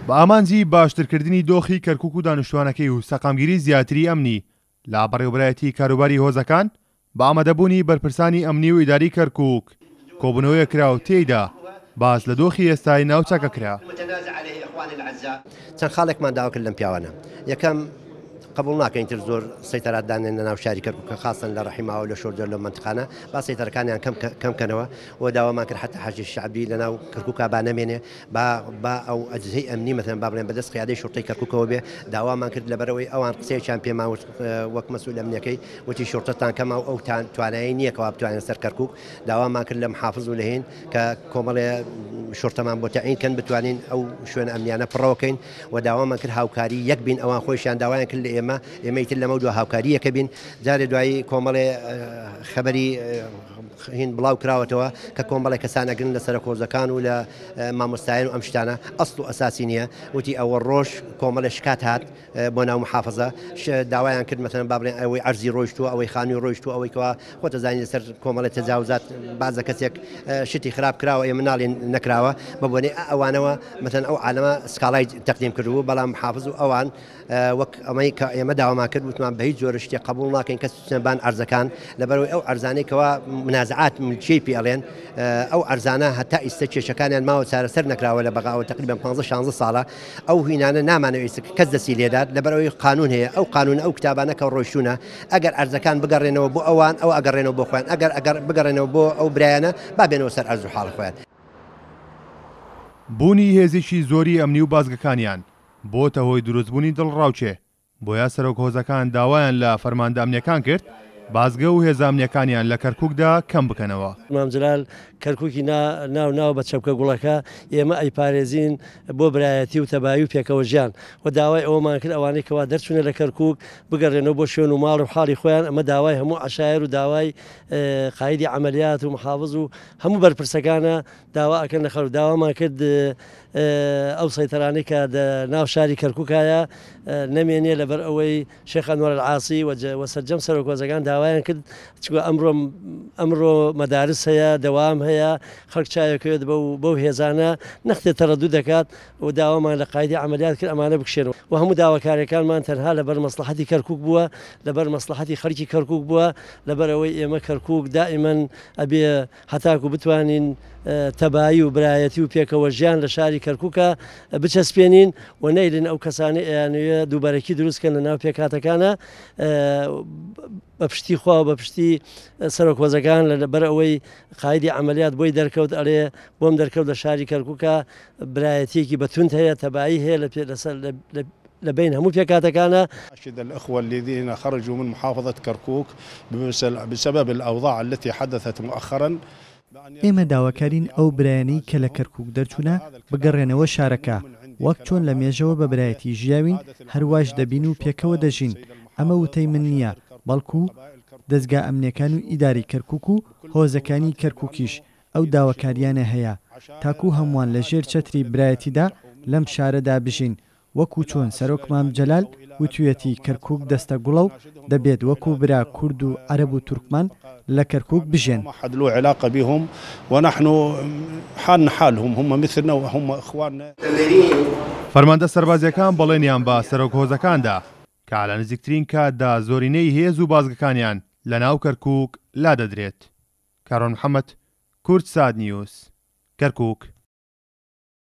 بە ئامانجی باشترکردنی دۆخی کەرکوک و دانیشتوانەکەی و سەقامگیری زیاتری ئەمنی لە بەڕێوەبەرایەتی کاروباری هۆزەکان بە ئامادەبوونی بەرپرسانی ئەمنی و ئیداری کەرکوک کۆبوونەوەیەک کرا و تێیدا باس لە دۆخی ئێستای ناوچەکە کرا. چەند خاڵێکمان داوا کرد لەم پیاوانە، یەکەم، قبوڵ ناکەین تر زۆر سەیتەرات دانێن لە ناو شاری کەرکوک کە خاستەن لە ڕەحیماوە لە شۆرجە لەو مەنتقانە با سەیتەرەکانیان کەم کەم کەنەوە و داوامان کرد حەتا حەشدی شەعبی لە ناو کەرکوکا با نەمێنێ با با ئەو ئەجهزەی ئەمنی مەسەلەن با بڵێن بەدەست قیادەی شوڕتەی کەرکوکەوە بێ داوامان کرد لەبەرئەوەی ئەوان قسەیەکیان پێمان وت وەک مەسئول ئەمنیەکەی وتی شوڕتەتان کەمە و ئەو توانایی نییە کەوا بتوانێت سەر کەرکوک داوامان کرد لە محافز و لە هین کە کۆمەڵێ شوڕتەمان بۆ تەعین کەن بتوانین ئەو شوێنە ئەمنیانە پڕەوە کەین و داوامان کرد هاوکاری یەک بین ئەوان خۆیشیان داوایان کرد لە ئێمە ئێمە ئیتر لەمەو دوا هاوکاری یەکە بین جارێ دوایی کۆمەڵێ خەبەری هین بڵاو کراوەتەوە کە کۆمەڵێ کەسان ئەگرن لە سەرەکۆزەکان و لە مامۆستایان و ئەم شتانە ئەسڵ و ئەساسی نییە وتی ئەوە ڕۆژ کۆمەڵێ شکات هات بۆ ناو محافزە داوایان کرد مەسەلەن با بڵێن ئەوەی عەرزی ڕۆیشتووە ئەوەی خانووی ڕۆیشتووە ئەوەی کەوا خۆت ئەزانی لەسەر کۆمەڵێ تەجاوزات بازە کەسێک شتی خراپ کراوە ئێمە ناڵێن نەکراوە بە بۆنەی ئەوانەوە مەسەلەن ئەو عالەمە سکاڵای تەقدیم کردبوو بەڵام محافز و ئەوان وەک ئەمەی کە ئێمە داوامان کرد وتمان بە هیچ جۆرە شتێک قبوڵ ناکەین کەس بچنە بان عەرزەکان لەبەرئەوەی ئەو عەرزانەی کەوا منازعات ملکیەی پێ ئەڵێن ئەو عەرزانە هەتا ئیستە کێشەکانیان ماوە چارەسەر نەکراوە لە بەغاوە تقریبا 15 16 ساڵە ئەو هینانە نامانەوێت کەس دەستی لێدات لەبەرئەوەی قانون هەیە ئەو قانون ئەو کتابانە کە ڕۆیشتونە ئەگەر عەرزەکان بگەڕێنەوە بۆ ئەوان ئەو ئەگەڕێنەوە بۆ خۆیان ئەگەر ئەگەر بگەڕێنەوە بۆ ئەو برایانە با بێنەوە سەر عەرز و حاڵی خۆیان. بوونی هێزێکی زۆری ئەمنی و بازگەکانیان بۆتە هۆی دروستبوونی دڵڕاوکێ بۆیە سەرۆک هۆزەکان داوایان لە فەرماندە ئەمنیەکان کرد بازگە و هێزە ئەمنیەکانیان لە کەرکوکدا کەم بکەنەوە. مام جەلال کەرکوکی نا ناو ناوە بە چەپکە گوڵەکە، ئێمە ئەیپارێزین بۆ برایەتی و تەبایی و پێکەوە ژیان و داوای ئەوەمان کرد ئەوانەی کەوا دەرچوونە لە کەرکوک بگەڕێنەوە بۆ شوێن و ماڵ و حاڵی خۆیان ئەمە داوای هەموو عەشایەر و داوای قایدی عەمەلیات و محافز و هەموو بەرپرسەکانە داوا ئەکەن لە خەڵک داوامان کرد ئەو سەیتەرانەی کە دە ناو شاری کەرکوکایە نەمێنێ لەبەر ئەوەی شێخ ئەنوەر العاسی و سەرجەم سەرۆک هۆزەکان داوایان کرد چونکە ئەمڕۆ ئەمڕۆ مەدارس هەیە دەوام هەیە خەڵک چاوێکەوێت بەو بەو هێزانە نەختێ تەڕەدود دەکات و داوامان لە قایدی عەمەلیات کرد ئەمانە بکشێنەوە و هەموو داواکاریەکانمان تەنها لەبەر مەسڵەحەتی کەرکوک بووە لەبەر مەسڵەحەتی خەڵکی کەرکوک بووە لەبەر ئەوەی ئێمە کەرکوک دائیمەن ئەبێ هەتاکو بتوانین تەبایی و برایەتی و پێکەوە ژیان لە شاری کەرکوکا بچەسپێنین و نەیلن ئەو کەسانەی ئەیانەوێ دووبەرەکی دروست کەن لە ناو پێکهاتەکانا بە پشتی خوا و بە پشتی سەرۆک هۆزەکان لە بەر ئەوەی قایدی عەمەلیات بۆی دەرکەوت ئەڵێ بۆم دەرکەوت لە شاری کەرکوکا برایەتیەکی بە توند هەیە تەبایی هەیە لە لەسەر لە بەین هەموو پێکهاتەکانا. أناشد الأخوة الذين خرجوا من محافظة كركوك بسبب الأوضاع التي حدثت مؤخرا. ئێمە داواکارین ئەو برایانەی کە لە کەرکوک دەرچوونە بگەڕێنەوە شارەکە، وەک چۆن لە مێژەوە بە برایەتی ژیاوین هەرواش دەبین و پێکەوە دەژین، ئەمە وتەی من نییە بەڵکو دەزگا ئەمنیەکان و ئیدارەی کەرکوک و هۆزەکانی کەرکوکیش ئەو داواکاریانە هەیە تاکو هەمووان لە ژێر چەتری برایەتیدا لەم شارەدا بژین وەکو چۆن سەرۆک مام جەلال وتویەتی کەرکوک دەستە گوڵە و دەبێت وەکو برا کورد و عەرەب و تورکمان لە کەرکوک بژێن. فەرماندە سەربازییەکان بەڵێنیان بە سەرۆک هۆزەکان دا کە لە نزیکترین کاتدا زۆرینەی هێز و بازگەکانیان لەناو کەرکوک لادەدرێت. کاروان محەمەد، کوردسات نیوز، کەرکوک.